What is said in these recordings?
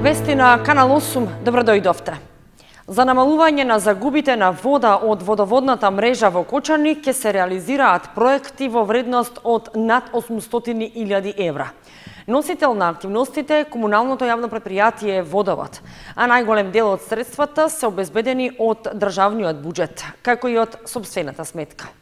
Вести на Канал 8, добро дојдовте. За намалување на загубите на вода од водоводната мрежа во Кочани ќе се реализираат проекти во вредност од над 800.000 евра. Носител на активностите е комуналното јавно предпријатие Водовод, а најголем дел од средствата се обезбедени од државниот буџет, како и од сопствената сметка.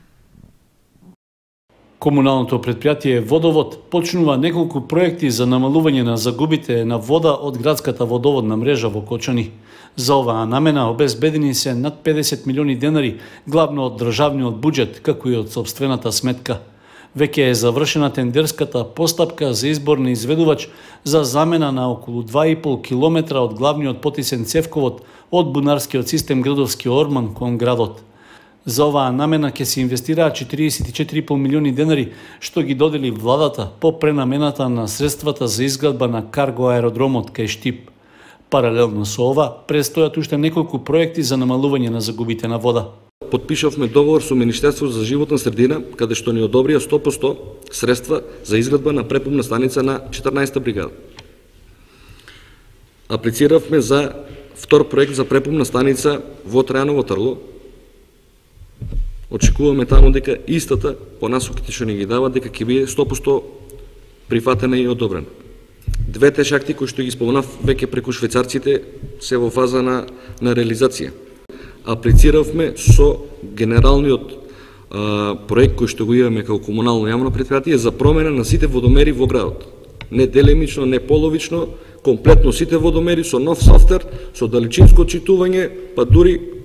Комуналното предпријатие Водовод почнува неколку проекти за намалување на загубите на вода од градската водоводна мрежа во Кочани. За оваа намена обезбедени се над 50 милиони денари, главно од државниот буџет, како и од сопствената сметка. Веќе е завршена тендерската постапка за избор на изведувач за замена на околу 2,5 километра од главниот потисен цевковод од бунарскиот систем Градовски Орман кон градот. За оваа намена ќе се инвестираат 44,5 милиони денари, што ги додели владата по пренамената на средствата за изградба на карго аеродромот кај Штип. Паралелно со ова, престојат уште неколку проекти за намалување на загубите на вода. Подпишавме договор со Министерството за животна средина, каде што ни одобрија 100% средства за изградба на препумна станица на 14-та бригада. Аплициравме за втор проект за препумна станица во Трајаново Трло. Очекуваме таму дека истата по насоките што ни ги дава дека ќе биде 100% прифатена и одобрена. Двете шахти кои што ги спомнав веќе преку швајцарците се во фаза на реализација. Аплициравме со генералниот проект кој што го имаме како комунално јавно предпријатие за промена на сите водомери во градот. Не делимично, не половично, комплетно сите водомери со нов софтвер, со далечинско отчитување, па дури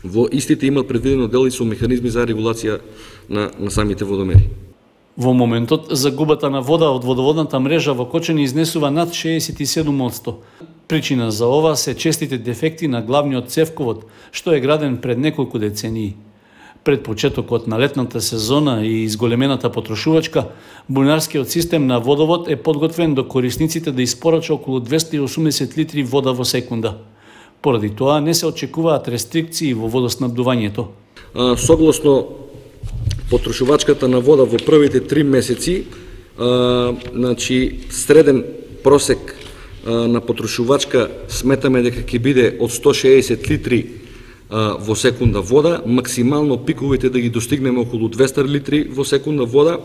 во истите имат предвидено дел и со механизми за регулација на самите водомери. Во моментот, загубата на вода од водоводната мрежа во Кочани изнесува над 67%. Причина за ова се честите дефекти на главниот цевковод, што е граден пред неколку децении. Пред почетокот на летната сезона и изголемената потрошувачка, бунарскиот систем на водовод е подготвен до корисниците да испорача околу 280 литри вода во секунда. Поради тоа не се очекуваат рестрикции во водоснабдувањето. Согласно потрошувачката на вода во првите 3 месеци, среден просек на потрошувачка сметаме дека ќе биде од 160 литри во секунда вода, максимално пиковите да ги достигнеме околу 200 литри во секунда вода.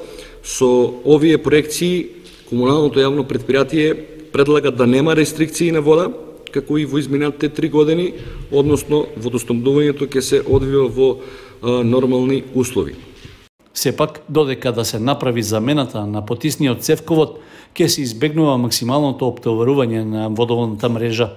Со овие проекции, комуналното јавно предпријатие предлага да нема рестрикции на вода, како и во изминатите 3 години, односно водоснабдувањето ќе се одвива во нормални услови. Сепак, додека да се направи замената на потисниот цевковод, ќе се избегнува максималното оптоварување на водоводната мрежа.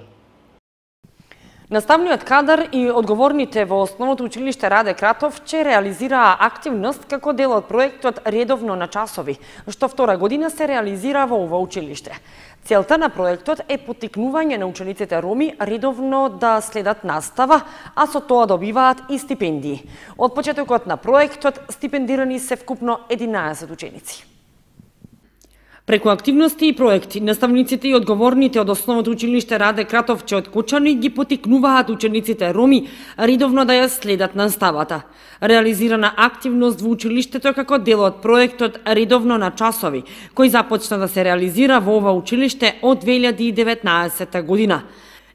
Наставниот кадар и одговорните во Основното училиште Раде Кратовче реализираа активност како дел од проектот Редовно на часови, што втора година се реализира во ова училиште. Целта на проектот е поттикнување на учениците роми редовно да следат настава, а со тоа добиваат и стипендии. Од почетокот на проектот стипендирани се вкупно 11 ученици. Преку активности и проекти, наставниците и одговорните од Основното училиште Раде Кратовче од Кочани ги поттикнуваат учениците роми редовно да ја следат наставата. Реализирана активност во училиштето како дел од проектот Редовно на часови, кој започна да се реализира во ова училиште од 2019 година.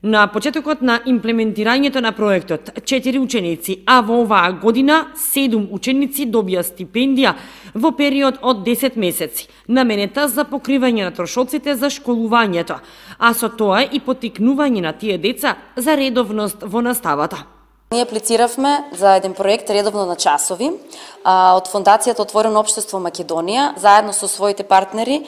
На почетокот на имплементирањето на проектот, 4 ученици, а во оваа година 7 ученици добија стипендија во период од 10 месеци, наменета за покривање на трошоците за школувањето, а со тоа и поттикнување на тие деца за редовност во наставата. Ние аплициравме за еден проект Редовно на часови од Фондацијата Отворено општество Македонија, заедно со своите партнери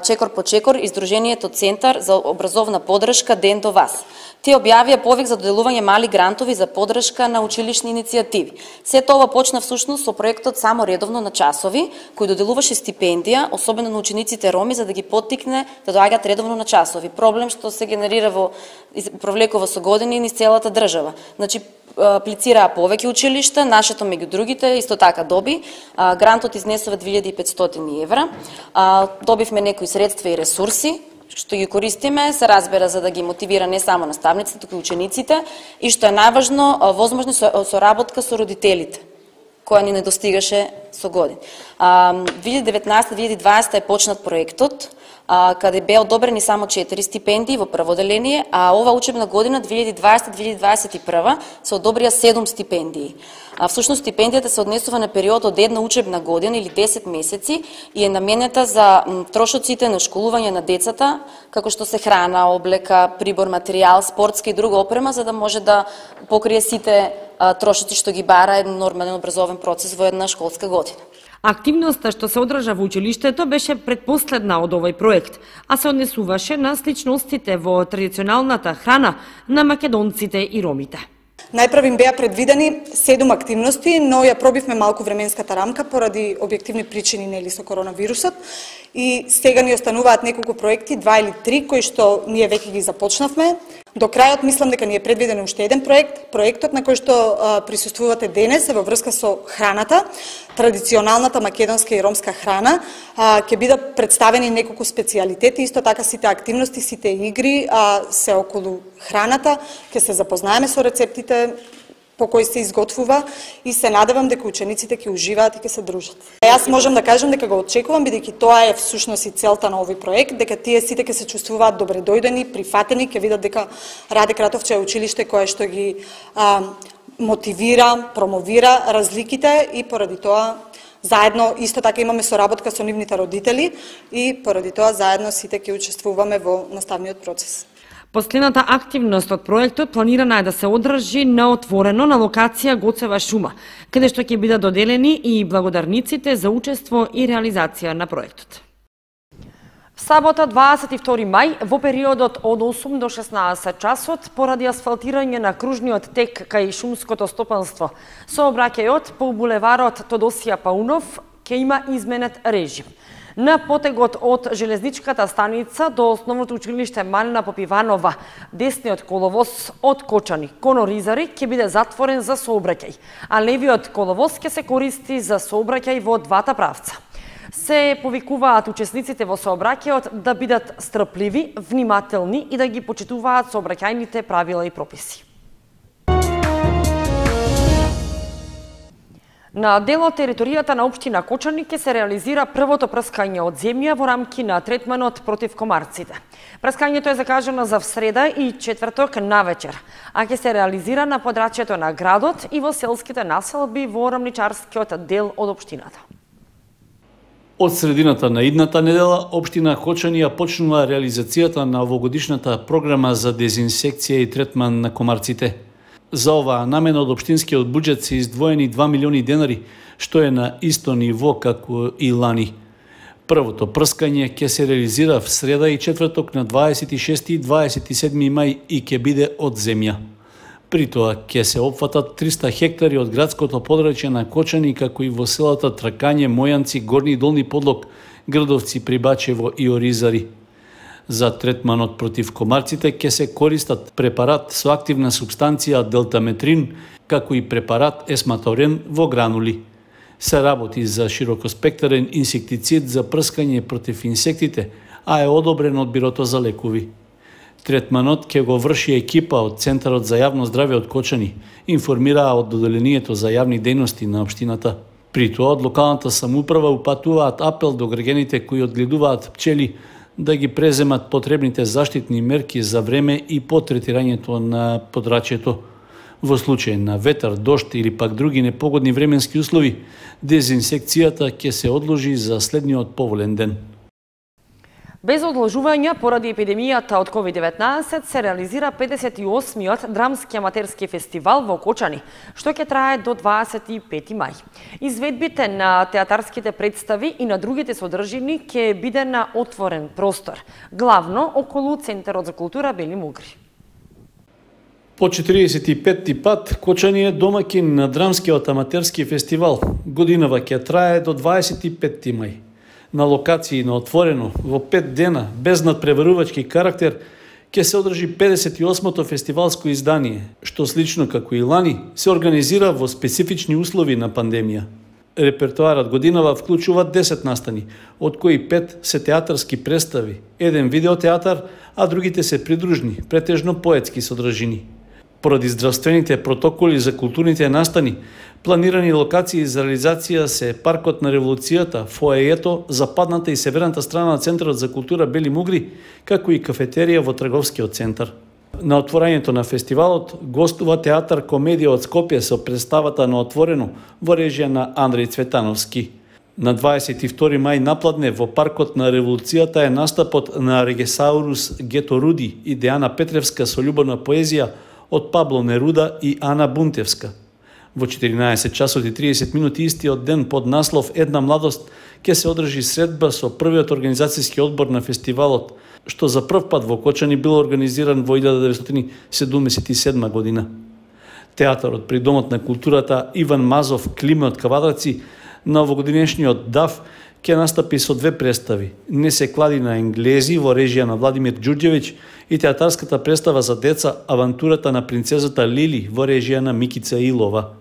Чекор по Чекор и Сдруженијето Центар за образовна поддршка Ден до вас. Те објавија повик за доделување мали грантови за поддршка на училишни иницијативи. Сето ова почна всушност со проектот Само редовно на часови, кој доделуваше стипендија, особено на учениците роми, за да ги поттикне да доаѓаат редовно на часови. Проблем што се генерира провлекува со години низ целата држава. Значи, аплицираа повеќе училишта, нашето меѓу другите исто така доби. Грантот изнесува 2500 евра. Добивме некои средства и ресурси, што ги користиме, се разбера за да ги мотивира не само наставниците, туку и учениците, и што е најважно, возможно соработка со родителите, која ни недостигаше со години. 2019-2020 е почнат проектот, каде беа одобрени само 4 стипендии во прво деление, а ова учебна година 2020-2021 се одобрија 7 стипендии. Всушност стипендијата се однесува на период од една учебна година или 10 месеци и е наменета за трошоците на школување на децата, како што се храна, облека, прибор, материјал, спортска и друга опрема, за да може да покрие сите трошоци што ги бара еден нормален образовен процес во една школска година. Активноста што се одржа во училиштето беше предпоследна од овој проект, а се однесуваше на сличностите во традиционалната храна на македонците и ромите. Најпрво им беа предвидени 7 активности, но ја пробивме малку временската рамка поради објективни причини нели со коронавирусот и сега ни остануваат неколку проекти, 2 или 3 кои што ние веќе ги започнавме. До крајот мислам дека ни е предвиден уште еден проект. Проектот на кој што присуствувате денес е во врска со храната, традиционалната македонска и ромска храна. Ќе бидат представени неколку специјалитети, исто така сите активности, сите игри се околу храната. Ќе се запознаеме со рецептите по кои се изготвува и се надевам дека учениците ќе уживаат и ќе се дружат. Јас можам да кажам дека го очекувам, бидејќи тоа е всушност и целта на овој проект, дека тие сите ќе се чувствуваат добредојдени, прифатени, ќе видат дека Раде Кратовче е училиште кое што ги мотивира, промовира разликите и поради тоа заедно исто така имаме соработка со нивните родители и поради тоа заедно сите ќе учествуваме во наставниот процес. Последната активност од проектот планирана е да се одржи на отворено на локација Гоцева шума, каде што ќе бидат доделени и благодарниците за учество и реализација на проектот. В сабота 22 мај, во периодот од 8 до 16 часот, поради асфалтирање на кружниот тек кај шумското стопанство, сообраќајот по булеварот Тодосија Паунов ќе има изменет режим. На потегот од железничката станица до основното училиште Малина Попиванова, десниот коловоз од Кочани кон Оризари ќе биде затворен за сообраќај, а левиот коловоз ќе се користи за сообраќај во двата правца. Се повикуваат учесниците во сообраќајот да бидат стрпливи, внимателни и да ги почитуваат сообраќајните правила и прописи. На дел од територијата на општина Кочани ќе се реализира првото прскање од земја во рамки на третманот против комарците. Прскањето е закажано за среда и четврток навечер, а ќе се реализира на подрачјето на градот и во селските населби во рамничарскиот дел од општината. Од средината на идната недела, општина Кочани ја почнува реализацијата на овогодишната програма за дезинсекција и третман на комарците. За оваа намена од општинскиот буџет се издвоени 2 милиони денари, што е на исто ниво како и лани. Првото прскање ќе се реализира в среда и четврток на 26 и 27 мај и ќе биде од земја. При тоа ќе се опфатат 300 хектари од градското подрачје на Кочани, како и во селата Тракање, Мојанци, Горни и Долни Подлог, Грдовци, Прибачево и Оризари. За третманот против комарците ќе се користат препарат со активна субстанција делтаметрин, како и препарат есматорен во гранули. Се работи за широкоспектарен инсектицид за прскање против инсектите, а е одобрен од Бирото за лекови. Третманот ќе го врши екипа од Центарот за јавно здравје од Кочани, информираа од Доделението за јавни дејности на општината. При тоа од локалната самоуправа упатуваат апел до граѓаните кои одгледуваат пчели да ги преземат потребните заштитни мерки за време и по третирањето на подрачјето. Во случај на ветар, дожд или пак други непогодни временски услови, дезинсекцијата ќе се одложи за следниот поволен ден. Без одложување поради епидемијата од COVID-19 се реализира 58-миот драмски аматерски фестивал во Кочани, што ќе трае до 25 мај. Изведбите на театарските представи и на другите содржини ќе биде на отворен простор, главно околу Центарот за култура Бели Мугри. По 45-ти пат Кочани е домаќин на драмскиот аматерски фестивал. Годинава ќе трае до 25 мај. На локации на отворено, во 5 дена, без надпреварувачки карактер, ќе се одржи 58-то фестивалско издание, што слично како и лани се организира во специфични услови на пандемија. Репертоарот годинава вклучува 10 настани, од кои 5 се театарски представи, еден видеотеатар, а другите се придружни, претежно поетски содржини. Поради здравствените протоколи за културните настани, планирани локации за реализација се Паркот на револуцијата, фоеето, западната и северната страна на Центарот за култура Бели Мугри, како и кафетерија во трговскиот центар. На отворањето на фестивалот гостува театар комедија од Скопје со представата на Отворено во режија на Андреј Цветановски. На 22 мај напладне во Паркот на револуцијата е настапот на Регесаурус Гето Руди и Деана Петревска со љубовна поезија од Пабло Неруда и Ана Бунтевска. Во 14 часот и 30 минути истиот ден под наслов Една младост ќе се одржи средба со првиот организацијски одбор на фестивалот, што за прв пат во Кочани бил организиран во 1977 година. Театарот при Домот на културата Иван Мазов Климе од Кавадраци на овогодинешниот ДАФ ќе настапи со две представи: Не се клади на енглези во режија на Владимир Ѓурѓевиќ и театарската представа за деца Авантурата на принцезата Лили во режија на Микица Илова.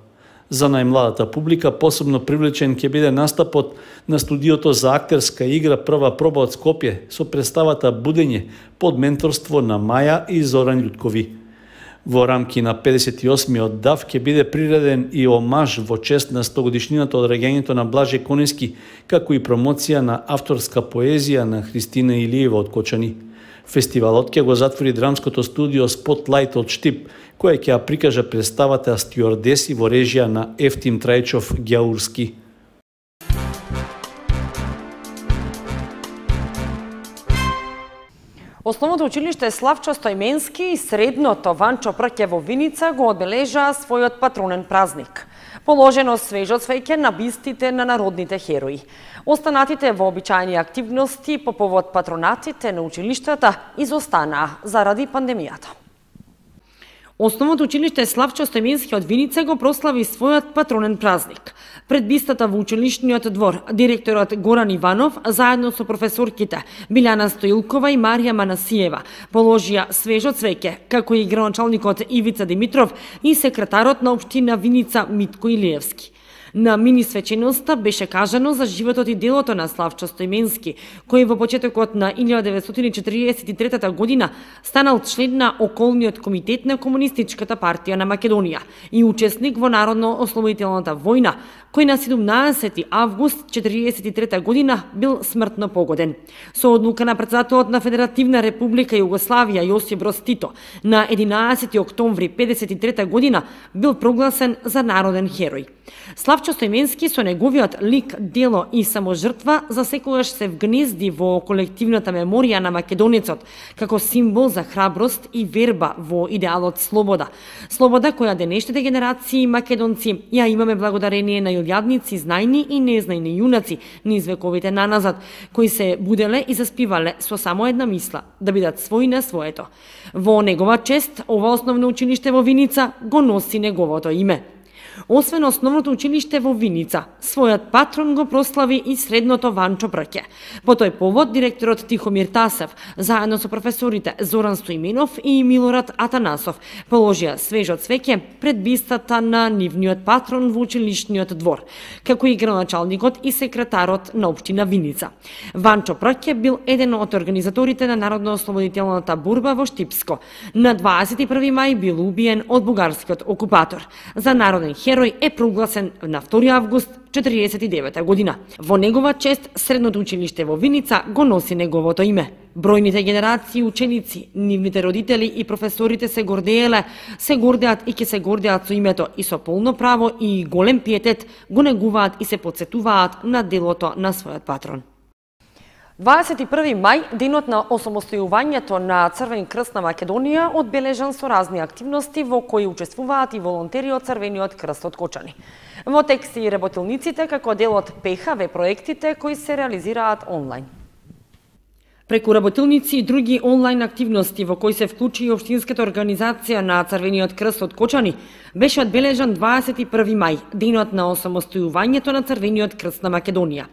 За најмладата публика посебно привлечен ќе биде настапот на студиото за актерска игра Прва проба од Скопје со представата Будење под менторство на Маја и Зоран Љуткови. Во рамки на 58-миот ДАФ ќе биде приреден и омаж во чест на 100-годишнината од раѓањето на Блаже Конески, како и промоција на авторска поезија на Христина Илиева од Кочани. Фестивалот ќе го затвори драмското студио Spotlight од Штип, кој ќе ја прикажа представата Стюардеси во режија на Ефтим Трајчов Ѓаурски. Основното училиште Славчо Стојменски и средното Ванчо Прке во Виница го одбележаа својот патронен празник. Положено свежо цвеќе на бистите на народните херои. Останатите вообичаени активности по повод патронатите на училиштата изостанаа заради пандемијата. Основното училиште Славчо Стојменски од Виница го прослави својот патронен празник. Пред бистата во училишниот двор, директорот Горан Иванов, заедно со професорките Билјана Стоилкова и Марија Манасиева, положија свежо цвеќе, како и градоначалникот Ивица Димитров и секретарот на општина Виница Митко Илиевски. На мини свеченоста беше кажано за животот и делото на Славчо Стојменски, кој во почетокот на 1943 година станал член на околниот комитет на Комунистичката партија на Македонија и учесник во Народно-ослободителната војна, кој на 17 август 1943 година бил смртно погоден. Со одлука на претседателот на Федеративна република Југославија Јосип Броз Тито на 11 октомври 1953 година бил прогласен за народен херој. Славчо Стојменски со неговиот лик, дело и саможртва за секогаш се вгнезди во колективната меморија на македонецот како символ за храброст и верба во идеалот слобода. Слобода која денешните генерации македонци ја имаме благодарение на илјадници знајни и незнајни јунаци низ вековите наназад, кои се буделе и заспивале со само една мисла – да бидат свој на своето. Во негова чест, ова основно училиште во Виница го носи неговото име. Освен основното училиште во Виница, својот патрон го прослави и средното Ванчо Прке. По тој повод, директорот Тихомир Тасев, заедно со професорите Зоран Стоименов и Милорад Атанасов, положија свежо цвеќе пред бистата на нивниот патрон во училишниот двор, како и градоначалникот и секретарот на општина Виница. Ванчо Прке бил еден од организаторите на Народно-ослободителната борба во Штипско. На 21 мај бил убиен од бугарскиот окупатор. За народен херој е прогласен на 2 август 1949 година. Во негова чест, средното училиште во Виница го носи неговото име. Бројните генерации ученици, нивните родители и професорите се гордеат и ќе се гордеат со името и со полно право и голем пиетет го негуваат и се потсетуваат на делото на својот патрон. 21 мај, денот на осамостојувањето на Црвен крст на Македонија, одбележан со разни активности во кои учествуваат и волонтери од Црвениот крст од Кочани. Во текст и работилниците како дел од ПХВ проектите кои се реализираат онлайн. Преку работилници и други онлайн активности во кои се вклучи и општинската организација на Црвениот крст од Кочани, беше одбележан 21 мај, денот на осамостојувањето на Црвениот крст на Македонија.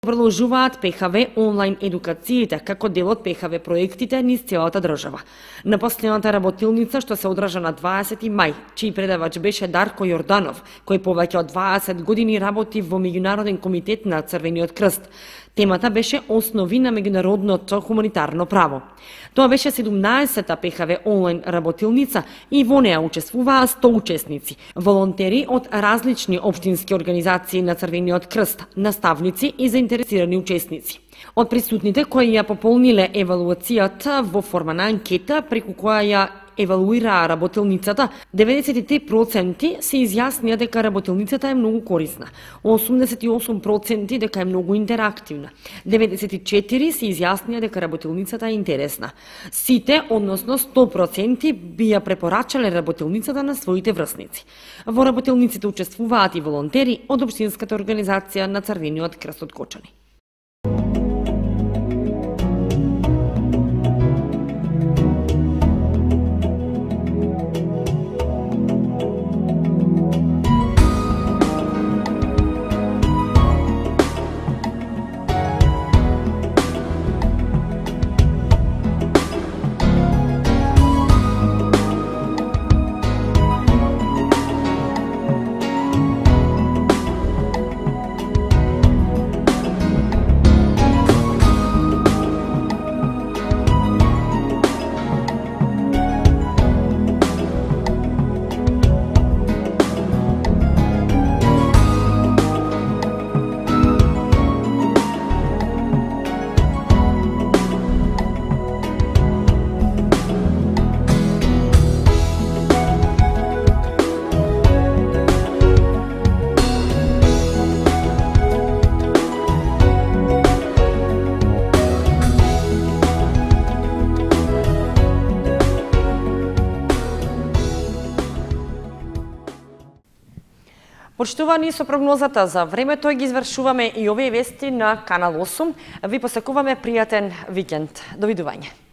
Продолжуваат ПХВ онлайн едукациите како дел од ПХВ проектите низ целата држава. На последната работилница што се одржа на 20 мај, чиј предавач беше Дарко Јорданов, кој повеќе од 20 години работи во Меѓународен комитет на Црвениот крст. Темата беше основи на меѓународното хуманитарно право. Тоа беше 17-та ПХВ онлайн работилница и во неа учествуваа 100 учесници, волонтери од различни општински организации на Црвениот крст, наставници и заинтересирани учесници. Од присутните кои ја пополниле евалуацијата во форма на анкета преку која ја евалуираа работилницата, 93% се изјаснија дека работилницата е многу корисна, 88% дека е многу интерактивна, 94% се изјаснија дека работилницата е интересна. Сите, односно 100%, би ја препорачале работилницата на своите врсници. Во работилниците учествуваат и волонтери од општинската организација на Црвениот крст од Кочани. Почитувани, со прогнозата за времето ги извршуваме и овие вести на Канал 8. Ви посекуваме пријатен викенд. Довидување.